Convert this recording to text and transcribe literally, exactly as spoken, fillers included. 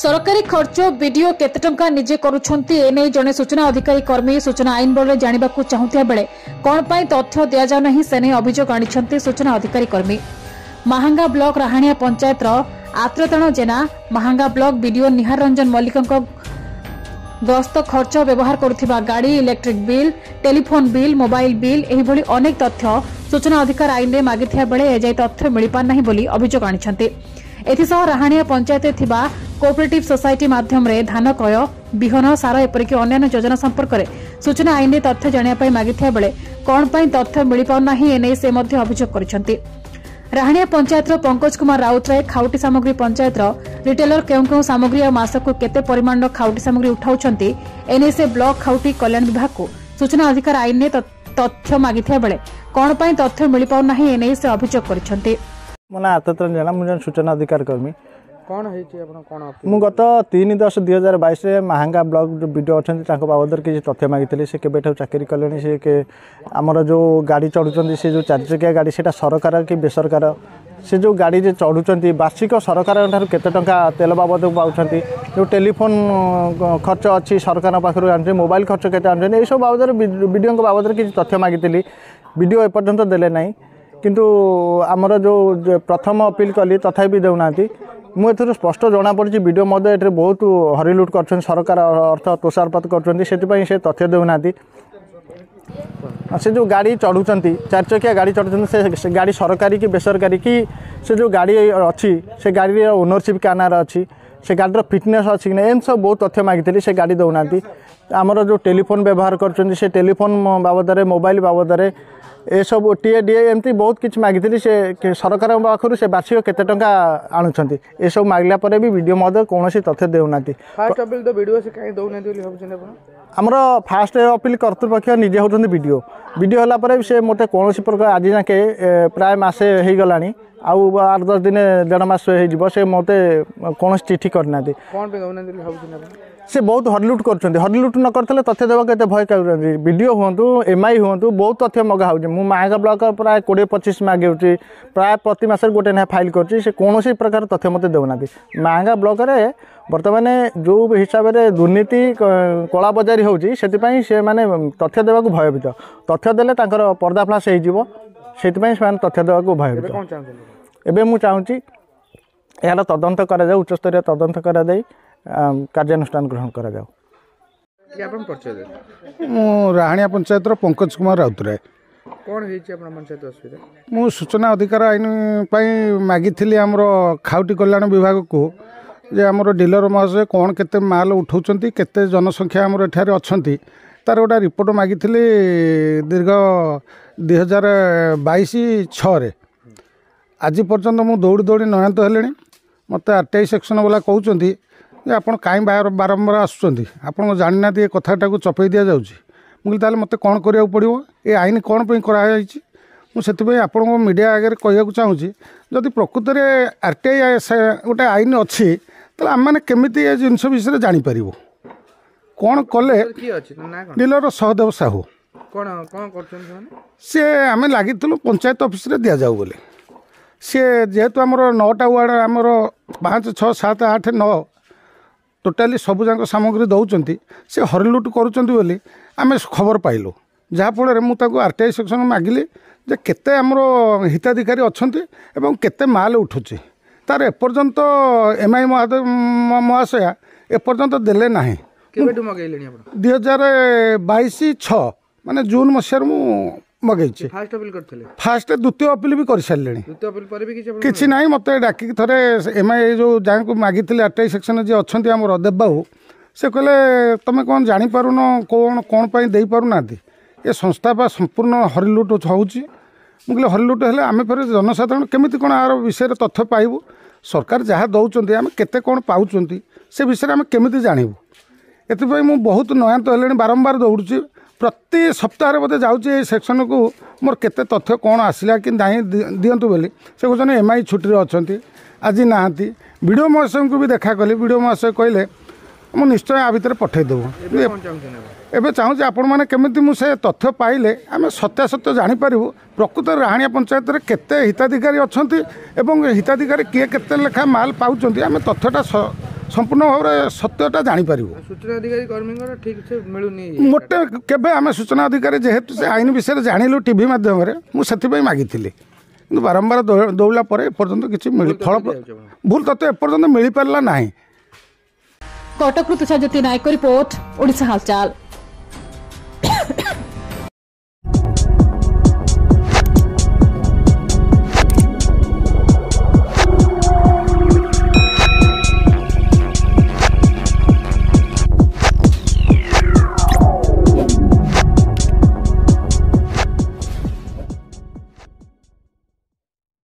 ସରକାରୀ ଖର୍ଚ୍ଚ ବିଡିଓ କେତେ ଟଙ୍କା ନିଜେ କରୁଛନ୍ତି, ଏନେଇ ଜଣେ ସୂଚନା ଅଧିକାରୀ କର୍ମୀ ସୂଚନା ଆଇନ ବଳରେ ଜାଣିବାକୁ ଚାହୁଁଥିବା ବେଳେ କ'ଣ ପାଇଁ ତଥ୍ୟ ଦିଆଯାଉନାହିଁ, ସେ ନେଇ ଅଭିଯୋଗ ଆଣିଛନ୍ତି ସୂଚନା ଅଧିକାରୀ କର୍ମୀ। ମାହାଙ୍ଗା ବ୍ଲକ ରାହାଣିଆ ପଞ୍ଚାୟତର ଆତ୍ରତାଣ ଜେନା ମାହାଙ୍ଗା ବ୍ଲକ ବିଡିଓ ନିହାର ରଞ୍ଜନ ମଲ୍ଲିକଙ୍କ ଗସ୍ତ ଖର୍ଚ୍ଚ, ବ୍ୟବହାର କରୁଥିବା ଗାଡ଼ି, electric bill, telephone bill, mobile bill ଏହିଭଳି ଅନେକ ତଥ୍ୟ ସୂଚନା ଅଧିକାର ଆଇନରେ ମାଗିଥିବା ବେଳେ ଏଯାଏ ତଥ୍ୟ ମିଳିପାରୁନାହିଁ ବୋଲି ଅଭିଯୋଗ ଆଣିଛନ୍ତି। ଏଥିସହ ରାହାଣିଆ ପଞ୍ଚାୟତରେ ଥିବା କୋଅପରେଟିଭ୍ ସୋସାଇଟି ମାଧ୍ୟମରେ ଧାନ କ୍ରୟ, ବିହନ, ସାର ଏପରିକି ଅନ୍ୟାନ୍ୟ ଯୋଜନା ସମ୍ପର୍କରେ ସୂଚନା ଆଇନରେ ତଥ୍ୟ ଜାଣିବା ପାଇଁ ମାଗିଥିବା ବେଳେ କ'ଣ ପାଇଁ ତଥ୍ୟ ମିଳିପାରୁନାହିଁ, ଏନେଇ ସେ ମଧ୍ୟ ଅଭିଯୋଗ କରିଛନ୍ତି। ରାହାଣିଆ ପଞ୍ଚାୟତର ପଙ୍କଜ କୁମାର ରାଉତରାୟ ଖାଉଟି ସାମଗ୍ରୀ ପଞ୍ଚାୟତର ରିଟେଲର କେଉଁ କେଉଁ ସାମଗ୍ରୀ ଆଉ ମାସକୁ କେତେ ପରିମାଣର ଖାଉଟି ସାମଗ୍ରୀ ଉଠାଉଛନ୍ତି, ଏନେଇ ସେ ବ୍ଲକ ଖାଉଟି କଲ୍ୟାଣ ବିଭାଗକୁ ସୂଚନା ଅଧିକାର ଆଇନରେ ତଥ୍ୟ ମାଗିଥିବା ବେଳେ କ'ଣ ପାଇଁ ତଥ୍ୟ ମିଳିପାରୁନାହିଁ, ଏନେଇ ସେ ଅଭିଯୋଗ କରିଛନ୍ତି। ମୋ ନାଁ ଆତତ୍ର ଜେନା, ମୁଁ ଜଣେ ସୂଚନା ଅଧିକାର କର୍ମୀ। କ'ଣ ହେଇଛି ଆପଣ କ'ଣ? ମୁଁ ଗତ ତିନି ଦଶ ଦୁଇ ହଜାର ବାଇଶରେ ମାହାଙ୍ଗା ବ୍ଲକ ଯେଉଁ ବିଡ଼ିଓ ଅଛନ୍ତି ତାଙ୍କ ବାବଦରେ କିଛି ତଥ୍ୟ ମାଗିଥିଲି। ସେ କେବେଠାରୁ ଚାକିରି କଲେଣି, ସେ ଆମର ଯେଉଁ ଗାଡ଼ି ଚଢ଼ୁଛନ୍ତି, ସେ ଯେଉଁ ଚାରିଚକିଆ ଗାଡ଼ି ସେଇଟା ସରକାର କି ବେସରକାର, ସେ ଯେଉଁ ଗାଡ଼ିରେ ଚଢ଼ୁଛନ୍ତି ବାର୍ଷିକ ସରକାରଙ୍କ ଠାରୁ କେତେ ଟଙ୍କା ତେଲ ବାବଦକୁ ପାଉଛନ୍ତି, ଯେଉଁ ଟେଲିଫୋନ୍ ଖର୍ଚ୍ଚ ଅଛି ସରକାରଙ୍କ ପାଖରୁ ଆଣୁଛନ୍ତି, ମୋବାଇଲ ଖର୍ଚ୍ଚ କେତେ ଆଣୁଛନ୍ତି, ଏଇସବୁ ବାବଦରେ ବିଡ଼ିଓଙ୍କ ବାବଦରେ କିଛି ତଥ୍ୟ ମାଗିଥିଲି। ବିଡ଼ିଓ ଏପର୍ଯ୍ୟନ୍ତ ଦେଲେ ନାହିଁ। କିନ୍ତୁ ଆମର ଯେଉଁ ପ୍ରଥମ ଅପିଲ କଲି ତଥାପି ଦେଉନାହାନ୍ତି। ମୁଁ ଏଥିରୁ ସ୍ପଷ୍ଟ ଜଣାପଡ଼ିଛି ବିଡ଼ିଓ ମଧ୍ୟ ଏଥିରେ ବହୁତ ହରିଲୁଟ୍ କରୁଛନ୍ତି, ସରକାର ଅର୍ଥ ତୋଷାରପାତ କରୁଛନ୍ତି, ସେଥିପାଇଁ ସେ ତଥ୍ୟ ଦେଉନାହାନ୍ତି। ସେ ଯେଉଁ ଗାଡ଼ି ଚଢ଼ୁଛନ୍ତି, ଚାରିଚକିଆ ଗାଡ଼ି ଚଢ଼ୁଛନ୍ତି, ସେ ଗାଡ଼ି ସରକାରୀ କି ବେସରକାରୀ, କି ସେ ଯେଉଁ ଗାଡ଼ି ଅଛି ସେ ଗାଡ଼ିର ଓନରସିପ୍ କାହା ନାଁରେ ଅଛି, ସେ ଗାଡ଼ିର ଫିଟନେସ୍ ଅଛି କି ନାହିଁ, ଏମିତି ସବୁ ବହୁତ ତଥ୍ୟ ମାଗିଥିଲି, ସେ ଗାଡ଼ି ଦେଉନାହାନ୍ତି। ଆମର ଯେଉଁ ଟେଲିଫୋନ୍ ବ୍ୟବହାର କରୁଛନ୍ତି ସେ ଟେଲିଫୋନ୍ ବାବଦରେ, ମୋବାଇଲ ବାବଦରେ, ଏସବୁ ଟିଏ ଡିଏ ଏମିତି ବହୁତ କିଛି ମାଗିଥିଲି। ସେ ସରକାରଙ୍କ ପାଖରୁ ସେ ବାର୍ଷିକ କେତେ ଟଙ୍କା ଆଣୁଛନ୍ତି, ଏସବୁ ମାଗିଲା ପରେ ବି ବିଡ଼ିଓ ମଧ୍ୟ କୌଣସି ତଥ୍ୟ ଦେଉନାହାନ୍ତି। ଫାଷ୍ଟ ଅପିଲ ତ ବିଡ଼ିଓ, ସେ କାହିଁ ଦେଉନାହାନ୍ତି ବୋଲି ଭାବୁଛନ୍ତି ଆପଣ? ଆମର ଫାଷ୍ଟ ଅପିଲ କର୍ତ୍ତୃପକ୍ଷ ନିଜେ ହେଉଛନ୍ତି ବିଡ଼ିଓ। ବିଡ଼ିଓ ହେଲା ପରେ ସେ ମୋତେ କୌଣସି ପ୍ରକାର ଆଜି ଯାକେ ପ୍ରାୟ ମାସେ ହେଇଗଲାଣି, ଆଉ ଆଠ ଦଶ ଦିନ ଦେଢ଼ ମାସ ହେଇଯିବ, ସେ ମୋତେ କୌଣସି ଚିଠି କରିନାହାନ୍ତି। କ'ଣ ପାଇଁ ଦେଉନାହାନ୍ତି ବୋଲି ଭାବୁଛନ୍ତି ଆପଣ? ସେ ବହୁତ ହରିଲୁଟ୍ କରୁଛନ୍ତି। ହରିଲୁଟ୍ ନ କରିଥିଲେ ତଥ୍ୟ ଦେବାକୁ ଏତେ ଭୟ କରୁଛନ୍ତି? ବିଡ଼ିଓ ହୁଅନ୍ତୁ, ଏମ୍ I ହୁଅନ୍ତୁ, ବହୁତ ତଥ୍ୟ ମଗା ହେଉଛି। ମୁଁ ମାହାଙ୍ଗା ବ୍ଲକ ପ୍ରାୟ କୋଡ଼ିଏ ପଚିଶ ମାଗିଉଛି, ପ୍ରାୟ ପ୍ରତି ମାସରେ ଗୋଟେ ଲେଖା ଫାଇଲ୍ କରୁଛି, ସେ କୌଣସି ପ୍ରକାର ତଥ୍ୟ ମୋତେ ଦେଉନାହାନ୍ତି। ମାହାଙ୍ଗା ବ୍ଲକରେ ବର୍ତ୍ତମାନ ଯେଉଁ ହିସାବରେ ଦୁର୍ନୀତି କଳାବଜାରୀ ହେଉଛି, ସେଥିପାଇଁ ସେମାନେ ତଥ୍ୟ ଦେବାକୁ ଭୟଭୀତ। ତଥ୍ୟ ଦେଲେ ତାଙ୍କର ପର୍ଦ୍ଦାଫାଶ ହେଇଯିବ, ସେଥିପାଇଁ ସେମାନେ ତଥ୍ୟ ଦେବାକୁ ଭୟଭୀତ। ଏବେ ମୁଁ ଚାହୁଁଛି ଏହାର ତଦନ୍ତ କରାଯାଉ, ଉଚ୍ଚସ୍ତରୀୟ ତଦନ୍ତ କରାଯାଇ କାର୍ଯ୍ୟାନୁଷ୍ଠାନ ଗ୍ରହଣ କରାଯାଉ। ମୁଁ ରାହାଣିଆ ପଞ୍ଚାୟତର ପଙ୍କଜ କୁମାର ରାଉତରାୟ। କ'ଣ ହେଇଛି ଆପଣ ପଞ୍ଚାୟତ ଅସୁବିଧା? ମୁଁ ସୂଚନା ଅଧିକାର ଆଇନ ପାଇଁ ମାଗିଥିଲି ଆମର ଖାଉଟି କଲ୍ୟାଣ ବିଭାଗକୁ ଯେ ଆମର ଡିଲର ମହାଶୟ କ'ଣ କେତେ ମାଲ ଉଠାଉଛନ୍ତି, କେତେ ଜନସଂଖ୍ୟା ଆମର ଏଠାରେ ଅଛନ୍ତି, ତାର ଗୋଟେ ରିପୋର୍ଟ ମାଗିଥିଲି ଦୀର୍ଘ ଦୁଇ ହଜାର ବାଇଶ ଛଅରେ। ଆଜି ପର୍ଯ୍ୟନ୍ତ ମୁଁ ଦୌଡ଼ି ଦୌଡ଼ି ନୟାନ୍ତ ହେଲିଣି। ମୋତେ ଆର୍ ଟି I section ବାଲା କହୁଛନ୍ତି ଯେ ଆପଣ କାହିଁ ବାରମ୍ବାର ଆସୁଛନ୍ତି, ଆପଣ ଜାଣିନାହାନ୍ତି ଏ କଥାଟାକୁ ଚପେଇ ଦିଆଯାଉଛି। ମୁଁ କହିଲି ତାହେଲେ ମୋତେ କ'ଣ କରିବାକୁ ପଡ଼ିବ, ଏ ଆଇନ କ'ଣ ପାଇଁ କରାଯାଇଛି? ମୁଁ ସେଥିପାଇଁ ଆପଣଙ୍କ ମିଡ଼ିଆ ଆଗରେ କହିବାକୁ ଚାହୁଁଛି, ଯଦି ପ୍ରକୃତରେ ଆର୍ ଟି I ଗୋଟେ ଆଇନ ଅଛି ତାହେଲେ ଆମେମାନେ କେମିତି ଏ ଜିନିଷ ବିଷୟରେ ଜାଣିପାରିବୁ? କ'ଣ କଲେ? ଡିଲର ସହଦେବ ସାହୁ। କ'ଣ କ'ଣ କରୁଛନ୍ତି ସେମାନେ? ସିଏ ଆମେ ଲାଗିଥିଲୁ ପଞ୍ଚାୟତ ଅଫିସରେ ଦିଆଯାଉ ବୋଲି। ସିଏ ଯେହେତୁ ଆମର ନଅଟା ୱାର୍ଡ଼, ଆମର ପାଞ୍ଚ ଛଅ ସାତ ଆଠ ନଅ ଟୋଟାଲି ସବୁଯାକ ସାମଗ୍ରୀ ଦେଉଛନ୍ତି, ସେ ହରିଲୁଟ୍ କରୁଛନ୍ତି ବୋଲି ଆମେ ଖବର ପାଇଲୁ। ଯାହାଫଳରେ ମୁଁ ତାକୁ ଆର୍ ଟି I section ମାଗିଲି ଯେ କେତେ ଆମର ହିତାଧିକାରୀ ଅଛନ୍ତି ଏବଂ କେତେ ମାଲ ଉଠୁଛି। ତାର ଏପର୍ଯ୍ୟନ୍ତ ଏମ୍ I ମହାଦେବ ମହାଶୟା ଏପର୍ଯ୍ୟନ୍ତ ଦେଲେ ନାହିଁ। କେବେଠୁ ମଗେଇଲେଣି ଆପଣ? ଦୁଇ ହଜାର ବାଇଶ ଛଅ ମାନେ ଜୁନ୍ ମସିହାରୁ ମୁଁ ମଗେଇଛି। ଫାଷ୍ଟ ଅପିଲ କରିଥିଲେ? ଫାଷ୍ଟ ଦ୍ୱିତୀୟ ଅପିଲ ବି କରିସାରିଲେଣି। ଦ୍ୱିତୀୟ ଅପିଲ ପରେ ବି କିଛି କିଛି ନାହିଁ। ମୋତେ ଡାକିକି ଥରେ ଏମ୍ I ଯେଉଁ ଯାହାଙ୍କୁ ମାଗିଥିଲି ଆର୍ ଟି I section ଯିଏ ଅଛନ୍ତି ଆମର ଦେବବାବୁ, ସେ କହିଲେ ତୁମେ କ'ଣ ଜାଣିପାରୁନ କ'ଣ କ'ଣ ପାଇଁ ଦେଇପାରୁନାହାନ୍ତି, ଏ ସଂସ୍ଥା ବା ସମ୍ପୂର୍ଣ୍ଣ ହରିଲୁଟ୍ ହେଉଛି। ମୁଁ କହିଲି ହରିଲୁଟ୍ ହେଲେ ଆମେ ଫେରେ ଜନସାଧାରଣ କେମିତି କ'ଣ ଆର ବିଷୟରେ ତଥ୍ୟ ପାଇବୁ? ସରକାର ଯାହା ଦେଉଛନ୍ତି ଆମେ କେତେ କ'ଣ ପାଉଛନ୍ତି ସେ ବିଷୟରେ ଆମେ କେମିତି ଜାଣିବୁ? ଏଥିପାଇଁ ମୁଁ ବହୁତ ନୟାନ୍ତ ହେଲିଣି, ବାରମ୍ବାର ଦୌଡ଼ୁଛି, ପ୍ରତି ସପ୍ତାହରେ ବୋଧେ ଯାଉଛି ଏଇ ସେକ୍ସନକୁ, ମୋର କେତେ ତଥ୍ୟ କ'ଣ ଆସିଲା କି ନାହିଁ ଦିଅନ୍ତୁ ବୋଲି। ସେ କହୁଛନ୍ତି ଏମ୍ I ଛୁଟିରେ ଅଛନ୍ତି, ଆଜି ନାହାନ୍ତି। ବିଡ଼ିଓ ମହାଶୟଙ୍କୁ ବି ଦେଖା କଲି, ବିଡ଼ିଓ ମହାଶୟ କହିଲେ ମୁଁ ନିଶ୍ଚୟ ଆ ଭିତରେ ପଠାଇଦେବୁ। ଏବେ ଚାହୁଁଛି ଆପଣମାନେ କେମିତି ମୁଁ ସେ ତଥ୍ୟ ପାଇଲେ ଆମେ ସତ୍ୟାସତ୍ୟ ଜାଣିପାରିବୁ, ପ୍ରକୃତରେ ରାହାଣିଆ ପଞ୍ଚାୟତରେ କେତେ ହିତାଧିକାରୀ ଅଛନ୍ତି ଏବଂ ହିତାଧିକାରୀ କିଏ କେତେ ଲେଖା ମାଲ ପାଉଛନ୍ତି, ଆମେ ତଥ୍ୟଟା ସମ୍ପୂର୍ଣ୍ଣ ଭାବରେ ସତ୍ୟଟା ଜାଣିପାରିବୁ। ସୂଚନା ଅଧିକାରୀ କର୍ମୀଙ୍କର ଠିକ୍ ସେ ମିଳୁନି ମୋଟେ। କେବେ ଆମେ ସୂଚନା ଅଧିକାରୀ ଯେହେତୁ ସେ ଆଇନ ବିଷୟରେ ଜାଣିଲୁ ଟିଭି ମାଧ୍ୟମରେ, ମୁଁ ସେଥିପାଇଁ ମାଗିଥିଲି। କିନ୍ତୁ ବାରମ୍ବାର ଦୌଡ଼ିଲା ପରେ ଏପର୍ଯ୍ୟନ୍ତ କିଛି ମିଳି ଫଳ ଭୁଲ ତଥ୍ୟ ଏପର୍ଯ୍ୟନ୍ତ ମିଳିପାରିଲା ନାହିଁ। କଟକରୁ ତୁଷାରଜ୍ୟୋତି ନାୟକ ରିପୋର୍ଟ, ଓଡ଼ିଶା ହାଲଚାଲ।